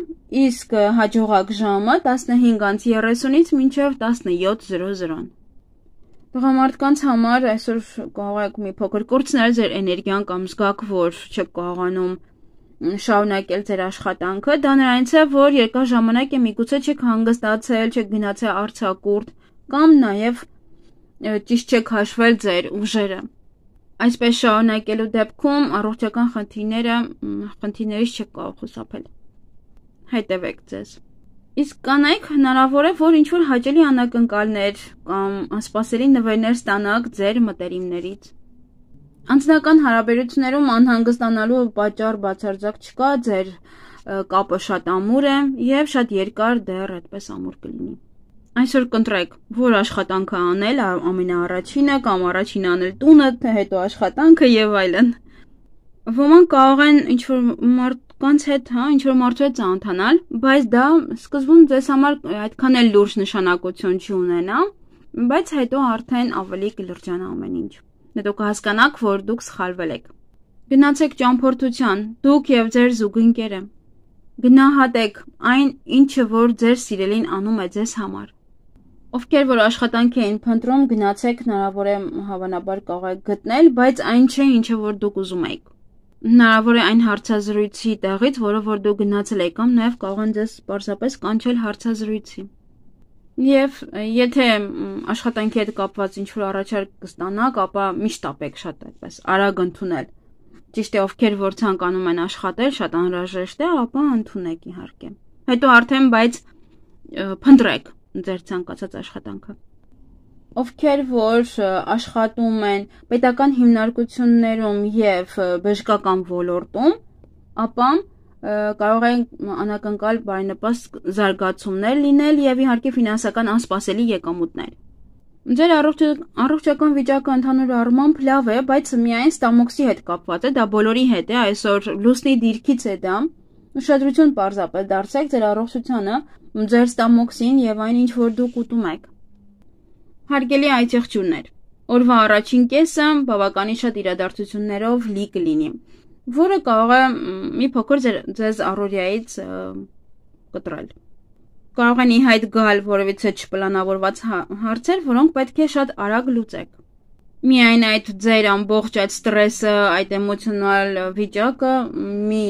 իսկ հաջողակ ժամը 15:30-ից մինչև 17:00։ Տղամարդկանց համար այսօր կարող եք մի փոքր կորցնել ձեր էներգիան կամ զգաք, որ չեք կարողանում շարունակել ձեր աշխատանքը, դա նրանից է, որ երկար ժամանակ է միգուցե չեք հանգստացել, չեք գնացել արձակուրդ կամ նաև ճիշտ չեք հաշվել ձեր ուժերը։ Այսպես շարունակելու դեպքում առողջական խնդիրներից չեք կարող խուսափել։ Հետևեք ձեզ։ Իսկ կանայք հնարավոր է, որ ինչ-որ հաճելի անակնկալներ կամ անսպասելի նվերներ ստանաք ձեր մտերիմներից։ Անձնական հարաբերություններում անհանգստանալու պատճառ բացարձակ չկա, ձեր կապը շատ ամուր է և շատ երկար դեռ այդպես ամուր կլինի։ Այսօր կընտրեք, որ աշխատանքը անել ամենաառաջինը կամ առաջինը անել տունը, հետո աշխատանքը և այլն։ Ոմանք կարող են ինչ-որ մարդկանց հետ, ինչ-որ մարդու հետ ծանոթանալ, բայց դա սկզբում ձեզ համար այդքան էլ լուրջ նշանակություն չի ունենա, բայց հետո արդեն ավելի կլրջանա ամեն ինչ։ Հետո կհասկանաք, որ դուք սխալվել եք։ Գնացեք ճամփորդության, դուք և ձեր զուգընկերը։ Գնահատեք այն, ինչը որ ձեր սիրելին անում է ձեզ համար։ Ովքեր որ աշխատանք էին փնտրում, գնացեք, հնարավոր է հավանաբար կարող եք գտնել, բայց այն չէ, ինչը որ դուք ուզում եք։ Հնարավոր է այն հարցազրույցի տեղից, որը որ դուք գնացել եք, կամ նաև կարող են ձեզ պարզապես կանչել հարցազրույցի։ Եվ եթե աշխատանքի հետ կապված ինչ-որ առաջարկ կստանաք, ապա միշտ ապեք շատ այդպես արագ ընդունել։ Ճիշտ է, ովքեր որ ցանկանում են աշխատել, շատ անհրաժեշտ է, ապա ընդունեք իհարկե։ Հետո արդեն բայց փնտրեք ձեր ցանկացած աշխատանքը։ Ովքեր որ աշխատում են պետական հիմնարկություններում և բժշկական ոլորտում, ապա կարող են անակնկալ բարենպաստ զարգացումներ լինել և իհարկե ֆինանսական անսպասելի եկամուտներ։ Ձեր առողջական վիճակը ընդհանուր առմամբ լավ է, բայց միայն ստամոքսի հետ կապված է, դա բոլորի հետ է, այսօր լուսնի դիրքից է դա, ուշադրություն պարզապես դարձրեք ձեր առողջությանը, ձեր ստամոքսին և այն ինչ որ դուք ուտում եք։ Հարգելի այցեղջյուրներ, օրվա առաջին կեսը բավականին շատ իրադարձություններով լի կլինի, որը կարող է մի փոքր ձեզ առօրյայից կտրել։ Կարող են ի հայտ գալ որևիցե չպլանավորված հարցեր, որոնք պետք է շատ արագ լուծեք։ Միայն այդ ձեր ամբողջ այդ ստրեսը, այդ էմոցիոնալ վիճակը մի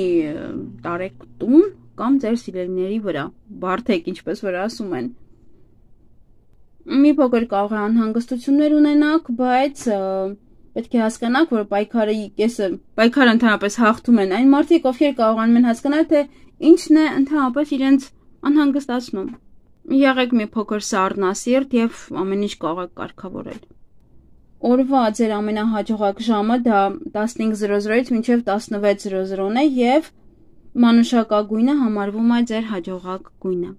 տարեք տուն կամ ձեր սիրելիների վրա, բարդեք, ինչպես որ ասում են։ Մի փոքր կարող է անհանգստություններ ունենաք, բայց պետք է հասկանաք, որ պայքարը ընդհանրապես հաղթում են այն մարդիկ, ովքեր կարողանում են հասկանալ, թե ինչն է ընդհանրապես իրենց անհանգստացնում։ Եղեք մի փոքր սառնասիրտ և ամեն ինչ կարող եք կարգավորել։ Օրվա ձեր ամենահաջողակ ժամը դա 15:00-ից մինչև 16:00 է և մանուշակագույնը համարվում է ձեր հաջողակ գույնը։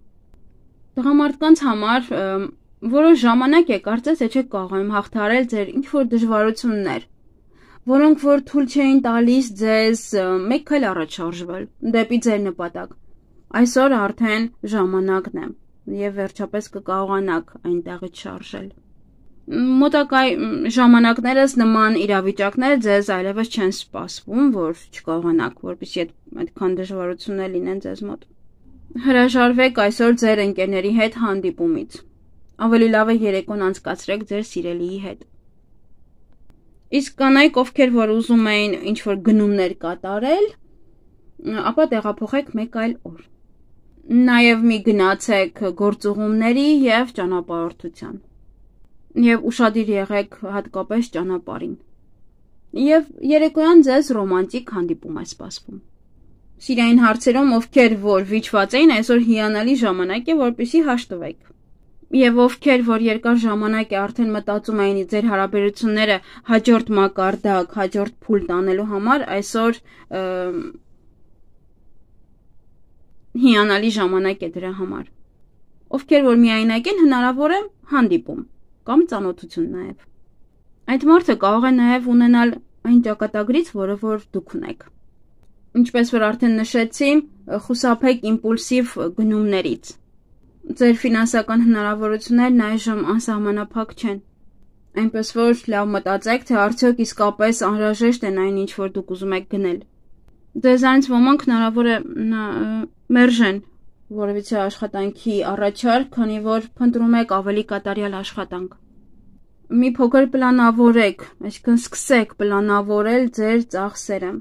Տղամարդկանց համար որոշ ժամանակ է կարծես թե չեք կարողանում հաղթահարել ձեր ինչ-որ դժվարություններ, որոնք որ թույլ չէին տալիս ձեզ մեկ քայլ առաջ շարժվել դեպի ձեր նպատակ։ Այսօր արդեն ժամանակն է և վերջապես կկարողանաք այնտեղից շարժել։ Մոտակա ժամանակներս նման իրավիճակներ ձեզ այլևս չեն սպասվում, որ չկարողանաք, որպեսզի այդքան դժվարություններ լինեն ձեզ մոտ։ Հրաժարվեք այսօր ձեր ընկերների հետ հանդիպումից։ Ավելի լավ է երեկոն անցկացրեք ձեր սիրելիի հետ։ Իսկ կանայք, ովքեր որ ուզում էին ինչ-որ գնումներ կատարել, ապա տեղափոխեք մեկ այլ օր։ Նաև մի գնացեք գործուղումների և ճանապարհորդության։ Եվ ուշադիր եղեք հատկապես ճանապարհին։ Եվ երեկոյան ձեզ ռոմանտիկ հանդիպում է սպասվում։ Սիրային հարցերում, ովքեր որ վիճված էին, այսօր հիանալի ժամանակ է, որպեսզի հաշտվեք։ Եվ ովքեր որ երկար ժամանակ է արդեն մտածում էին ձեր հարաբերությունները հաջորդ մակարդակ, հաջորդ փուլ տանելու համար, այսօր հիանալի ժամանակ է դրա համար։ Ովքեր որ միայնակ են, հնարավոր է հանդիպում կամ ծանոթություն նաև։ Այդ մարդը կարող է նաև ունենալ այն ճակատագրից, որը որ դուք ունեք։ Ինչպես որ արդեն նշեցի, խուսափեք իմպուլսիվ գնումներից։ Ձեր ֆինանսական հնարավորություններն այժմ անսահմանափակ չեն։ Այնպես որ լավ մտածեք, թե արդյոք իսկապես անհրաժեշտ են այն, ինչ որ դուք ուզում եք գնել։ Ձեզանից ոմանք հնարավոր է մերժեն որևիցե աշխատանքի առաջարկ, քանի որ փնտրում եք ավելի կատարյալ աշխատանք։ Մի փոքր պլանավորեք, այսինքն սկսեք պլանավորել ձեր ծախսերը։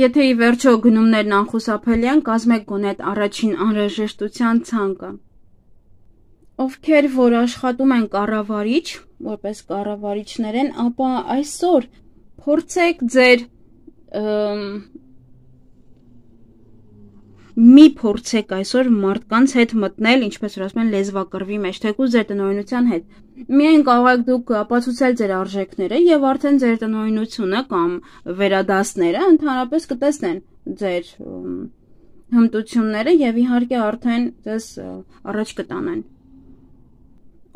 Եթե ի վերջո գնումներն անխուսափելի են, կազմեք գոնե այդ առաջին անհրաժեշտության ցանկը։ Ովքեր որ աշխատում են կառավարիչ, որպես կառավարիչներ են, ապա այսօր փորձեք ձեր մի փորձեք այսօր մարդկանց հետ մտնել, ինչպես որ ասում են, լեզվակռվի մեջ, թեկուզ ձեր տնօրինության հետ։ Միայն կարող եք դուք ապացուցել ձեր արժեքները եւ արդեն ձեր տնօրինությունը կամ վերադասները ընդհանրապես կտեսնեն ձեր հմտությունները եւ իհարկե արդեն ձեզ առաջ կտանեն։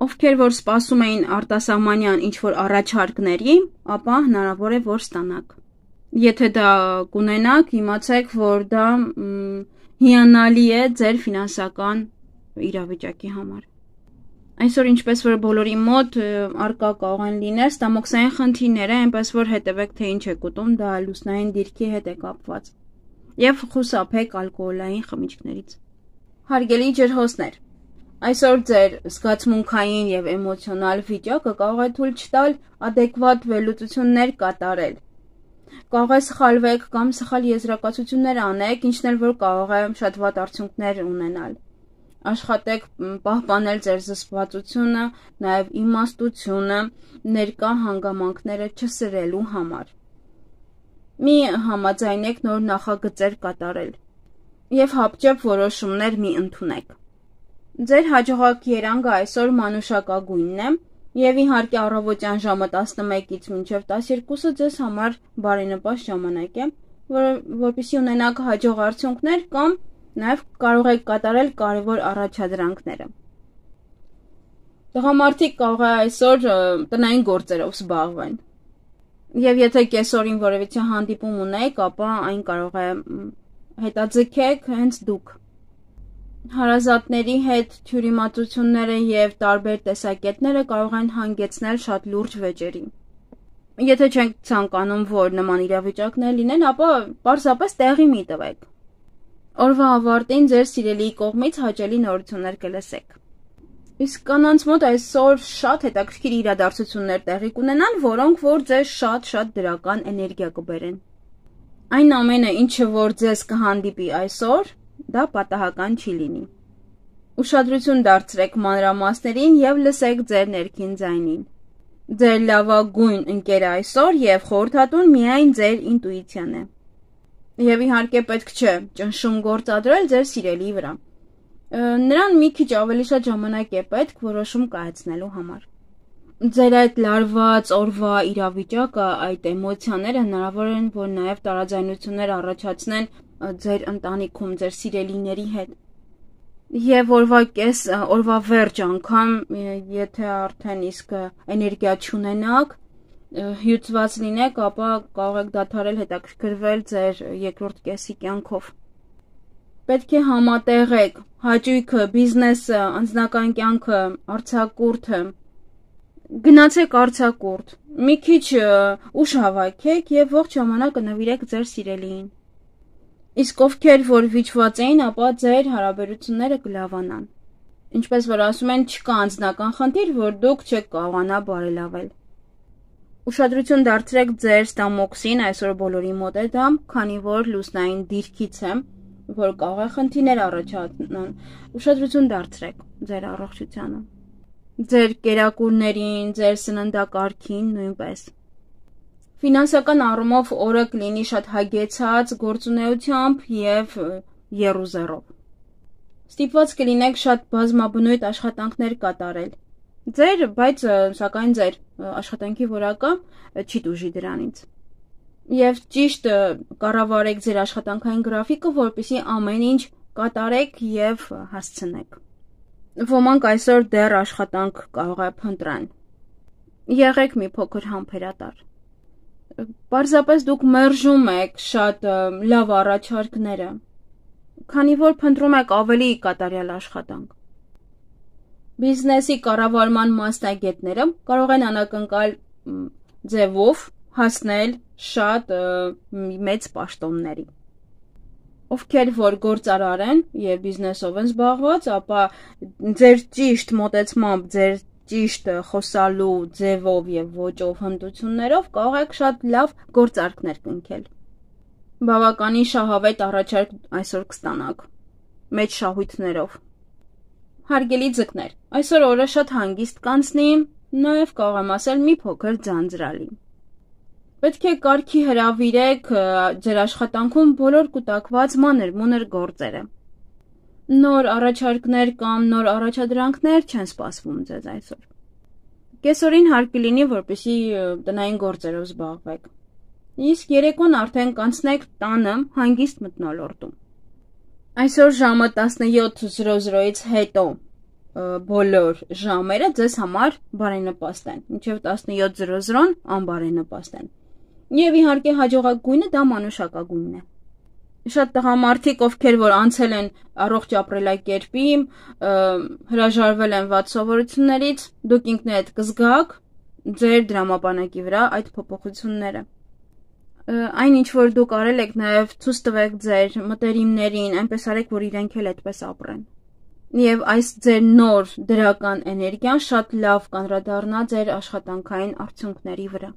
Ովքեր որ սպասում էին արտասահմանյան ինչ-որ առաջարկների, ապա հնարավոր է որ ստանաք։ Եթե դա կունենաք, իմացեք, որ դա հիանալի է ձեր ֆինանսական իրավիճակի համար։ Այսօր ինչպես որ բոլորի մոտ արկա կարող են լինել ստամոքսային խնդիրները, այնպես որ հետևեք թե ինչ եք ուտում, դա լուսնային դիրքի հետ է կապված։ Եվ խուսափեք ալկոհոլային խմիչքներից։ Հարգելի ջրհոսներ, այսօր ձեր զգացմունքային եւ էմոցիոնալ վիճակը կարող է թույլ չտալ adekvat վերլուծություններ կատարել։ Կարող է սխալվեք կամ սխալ եզրակացություններ անեք, ինչն էլ որ կարող է շատ վատ արդյունքներ ունենալ։ Աշխատեք պահպանել ձեր զսպվածությունը, նաև իմաստությունը, ներկա հանգամանքները չսրելու համար։ Մի համաձայնեք նոր նախագծեր կատարել եւ հապճեպ որոշումներ մի ընդունեք։ Ձեր հաջողակ երանգը այսօր մանուշակագույնն է եւ իհարկե առավոտյան ժամը 11-ից մինչեւ 12-ը ձեզ համար բարենպաստ ժամանակ է, որպեսզի ունենաք հաջող արդյունքներ կամ նաև կարող եք կատարել կարևոր առաջադրանքները։ Տղամարդիկ կարող է այսօր տնային գործերով զբաղվեն։ Եվ եթե կեսօրին որևիցե հանդիպում ունեք, ապա այն կարող է հետաձգեք հենց դուք։ Հարազատների հետ թյուրիմացությունները եւ տարբեր տեսակետները կարող են հանգեցնել շատ լուրջ վեճերի։ Եթե չենք ցանկանում, որ նման իրավիճակներ լինեն, ապա պարզապես տեղի մի տվեք։ Օրվա ավարտին ձեր սիրելիի կողմից հաճելի նորություններ կլսեք։ Իսկ կանանց մոտ այսօր շատ հետաքրքիր իրադարձություններ տեղի կունենան, որոնք որ ձեզ շատ դրական էներգիա կբերեն։ Այն ամենը, ինչը որ ձեզ կհանդիպի այսօր, դա պատահական չի լինի։ Ուշադրություն դարձրեք մանրամասներին եւ լսեք ձեր ներքին ձայնին։ Ձեր լավագույն ընկերը այսօր եւ խորհրդատուն միայն ձեր ինտուիցիան է։ Եվ իհարկե պետք չէ ճնշում գործադրել ձեր սիրելիի վրա։ Նրան մի քիչ ավելի շատ ժամանակ է պետք որոշում կայացնելու համար։ Ձեր այդ լարված օրվա իրավիճակը, այդ էմոցիաները հնարավոր են, որ նաև տարաձայնություններ առաջացնեն ձեր ընտանիքում, ձեր սիրելիների հետ։ Եվ օրվա վերջ անգամ, եթե արդեն իսկ էներգիա չունենաք, հյուծված լինեք, ապա կարող եք դադարել հետաքրքրվել ձեր երկրորդ կեսի կյանքով։ Պետք է համատեղեք հաճույքը, բիզնեսը, անձնական կյանքը, արձակուրդը։ Գնացեք արձակուրդ, մի քիչ ուշ հավաքեք եւ ողջ ժամանակը նվիրեք ձեր սիրելիին։ Իսկ ովքեր որ վիճված էին, ապա ձեր հարաբերությունները կլավանան։ Ինչպես որ ասում են, չկա անձնական խնդիր, որ դուք չեք կարողանա բարելավել։ Ուշադրություն դարձրեք ձեր ստամոքսին, այսօր բոլորի մոտ է դա, քանի որ լուսնային դիրքից է, որ կարող է խնդիրներ առաջանան։ Ուշադրություն դարձրեք ձեր առողջությանը, ձեր կերակուրներին, ձեր սննդակարգին նույնպես։ Ֆինանսական առումով օրը կլինի շատ հագեցած գործունեությամբ եւ եռուզեռով։ Ստիպված կլինեք շատ բազմաբնույթ աշխատանքներ կատարել։ Բայց սակայն ձեր աշխատանքի որակը չի տուժի դրանից։ Եվ ճիշտ կառավարեք ձեր աշխատանքային գրաֆիկը, որպեսզի ամեն ինչ կատարեք եւ հասցնեք։ Ոմանք այսօր դեռ աշխատանք կարող է փնտրան։ Եղեք մի փոքր համբերատար։ Պարզապես դուք մերժում եք շատ լավ առաջարկները, քանի որ փնտրում եք ավելի կատարյալ աշխատանք։ Բիզնեսի կառավարման մասնագետները կարող են անակնկալ ձևով հասնել շատ մեծ պաշտոնների։ Ովքեր որ գործարար են եւ բիզնեսով են զբաղված, ապա ձեր ճիշտ մոտեցմամբ, ձեր ճիշտ խոսալու ձևով եւ ոճով հմտություններով կարող եք շատ լավ գործարքներ կնքել։ Բավականին շահավետ առաջարկ այսօր կստանաք մեծ շահույթներով։ Հարգելի ձկներ, այսօր օրը շատ հանգիստ կանցնի, նաեւ կարող եմ ասել մի փոքր ձանձրալի։ Պետք է կարգի հրավիրեք ձեր աշխատանքում բոլոր կուտակված մանր-մունր գործերը։ Նոր առաջարկներ կամ նոր առաջադրանքներ չեն սպասվում ձեզ այսօր։ Կեսօրին հարկ կլինի, որպեսզի տնային գործերով զբաղվեք։ Իսկ երեկոն արդեն կանցնեք տանը հանգիստ մթնոլորտում։ Այսօր ժամը 17:00-ից հետո բոլոր ժամերը ձեզ համար բարենպաստ են, մինչև 17:00 անբարենպաստ են։ Եվ իհարկե հաջողակ դա մանուշակագույնն է։ Շատ տղամարդիկ, ովքեր որ անցել են առողջ ապրելակերպի, հրաժարվել են վատ սովորություններից, դուք ինքներդ կզգաք ձեր դրամապանակի վրա այդ փոփոխությունները։ Այն ինչ որ դուք արել եք, նաև ցույց տվեք ձեր մտերիմներին, այնպես արեք, որ իրենք էլ այդպես ապրեն։ Եվ այս ձեր նոր դրական էներգիան շատ լավ կանրադառնա ձեր աշխատանքային արդյունքների վրա։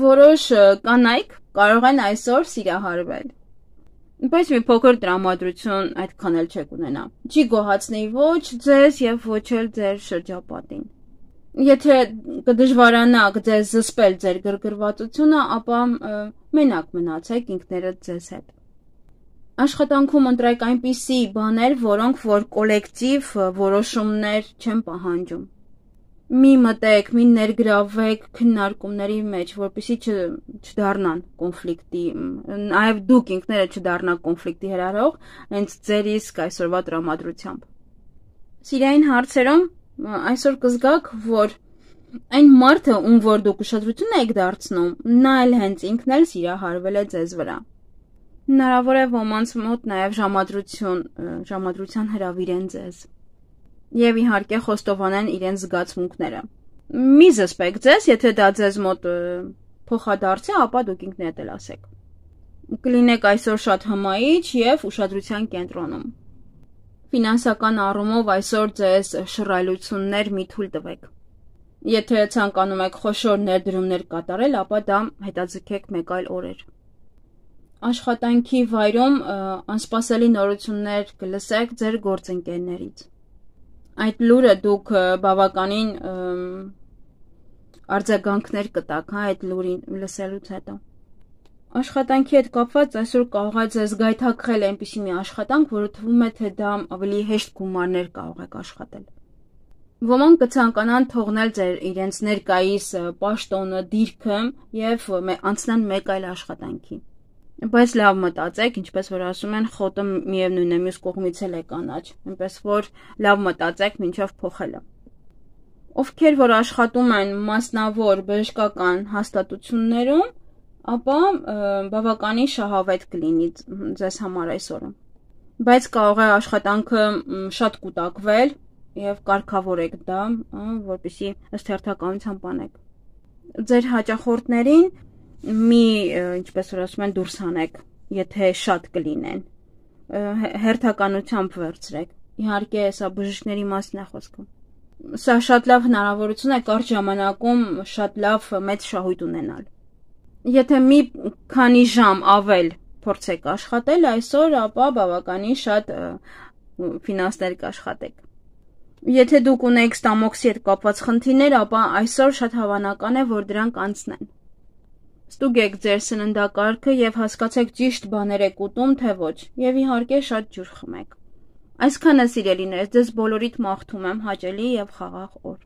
Որոշ կանայք կարող են այսօր սիրահարվել։ Բայց մի փոքր տրամադրություն այդքան էլ չեք ունենա։ Չի գոհացնի ոչ ձեզ եւ ոչ էլ ձեր շրջապատին։ Եթե կդժվարանաք ձեզ զսպել ձեր գրգռվածությունը, ապա մենակ մնացեք ինքներդ ձեզ հետ։ Աշխատանքում ընտրեք այնպիսի բաներ, որոնք որ կոլեկտիվ որոշումներ չեն պահանջում։ Մի մտեք, մի ներգրավեք քննարկումների մեջ, որպեսզի չդառնան կոնֆլիկտի, նաև դուք ինքներդ չդառնաք կոնֆլիկտի հրահրող, հենց ձեր իսկ այսօրվա տրամադրությամբ։ Սիրային հարցերում այսօր կզգաք, որ այն մարդը, ում որ դուք ուշադրություն եք դարձնում, նա էլ հենց ինքն էլ սիրահարվել է ձեզ վրա։ Հնարավոր է ոմանց մոտ նաև ժամադրության հրավիրեն ձեզ։ Եվ իհարկե խոստովանեն իրենց զգացմունքները։ Մի զսպեք ձեզ, եթե դա ձեզ մոտ փոխադարձ է, ապա դուք ինքներդ էլ ասեք։ Կլինեք այսօր շատ հմայիչ եւ ուշադրության կենտրոնում։ Ֆինանսական առումով այսօր ձեզ շռայլություններ մի թույլ տվեք։ Եթե ցանկանում եք խոշոր ներդրումներ կատարել, ապա դա հետաձգեք մեկ այլ օրեր։ Աշխատանքի վայրում անսպասելի նորություններ կլսեք ձեր գործընկերներից։ Այդ լուրը դուք բավականին արձագանքներ կտաք, այդ լուրին լսելուց հետո։ Աշխատանքի հետ կապված այսօր կարող է ձեզ գայթակղել այնպիսի մի աշխատանք, որը թվում է, թե դա ավելի հեշտ գումարներ կարող եք աշխատել։ Ոմանք կցանկանան թողնել ձեր իրենց ներկայիս պաշտոնը, դիրքը եւ անցնեն մեկ այլ աշխատանքի։ Բայց լավ մտածեք, ինչպես որ ասում են, խոտը միևնույն է, մյուս կողմից էլ է կանաչ, այնպես որ լավ մտածեք մինչև փոխելը։ Ովքեր որ աշխատում են մասնավոր բժշկական հաստատություններում, ապա բավականին շահավետ կլինի ձեզ համար այսօրը։ Բայց կարող է աշխատանքը շատ կուտակվել եւ կարգավորեք դա, որպեսզի ըստ հերթականության բանեք։ Ձեր հաճախորդներին ինչպես որ ասում են, դուրս հանեք, եթե շատ կլինեն, հերթականությամբ վերցրեք, իհարկե սա բժիշկների մասին է խոսքը, սա շատ լավ հնարավորություն է կարճ ժամանակում շատ լավ մեծ շահույթ ունենալ, եթե մի քանի ժամ ավել փորձեք աշխատել այսօր, ապա բավականին շատ ֆինանսներ կաշխատեք, եթե դուք ունեք ստամոքսի հետ կապված խնդիրներ, ապա այսօր շատ հավանական է, որ դրանք անցնեն։ Ստուգեք ձեր սննդակարգը եւ հասկացեք ճիշտ բաներ եք ուտում, թե ոչ, եւ իհարկե շատ ջուր խմեք։ Այսքանը սիրելիներս, ձեզ բոլորիդ մաղթում եմ հաճելի եւ խաղաղ օր։